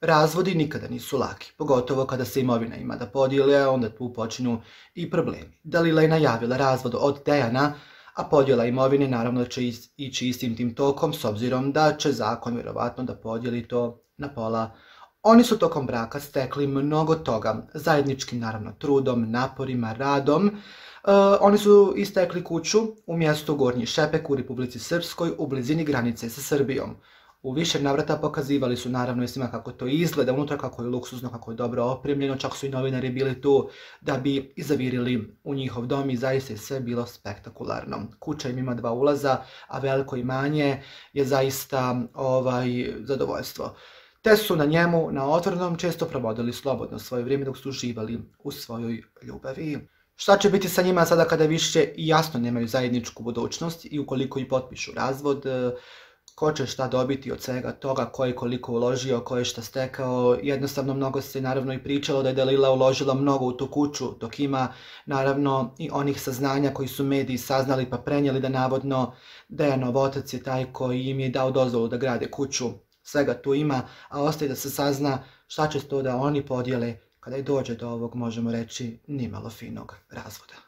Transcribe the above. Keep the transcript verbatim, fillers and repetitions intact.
Razvodi nikada nisu laki, pogotovo kada se imovina ima da podijele, onda tu počinju i problemi. Dalila je najavila razvod od Dejana, a podjela imovine naravno će ići istim tim tokom, s obzirom da će zakon vjerovatno da podijeli to na pola. Oni su tokom braka stekli mnogo toga, zajedničkim naravno trudom, naporima, radom. E, oni su istekli kuću u mjestu Gornji Šepek u Republici Srpskoj u blizini granice sa Srbijom. U više navrata pokazivali su naravno i svima kako to izgleda unutra, kako je luksuzno, kako je dobro opremljeno, čak su i novinari bili tu da bi zavirili u njihov dom i zaista je sve bilo spektakularno. Kuća im ima dva ulaza, a veliko imanje je zaista ovaj, zadovoljstvo. Te su na njemu, na otvorenom, često provodili slobodno svoje vrijeme dok su uživali u svojoj ljubavi. Šta će biti sa njima sada kada više jasno nemaju zajedničku budućnost i ukoliko i potpišu razvod, ko će šta dobiti od svega toga, ko je koliko uložio, ko je šta stekao. Jednostavno mnogo se naravno i pričalo da je Dalila uložila mnogo u tu kuću, dok ima naravno i onih saznanja koji su mediji saznali pa prenijeli da navodno Dejanov otac je taj koji im je dao dozvolu da grade kuću. Svega tu ima, a ostaje da se sazna šta će to da oni podijele kada i dođe do ovog, možemo reći, nimalo finog razvoda.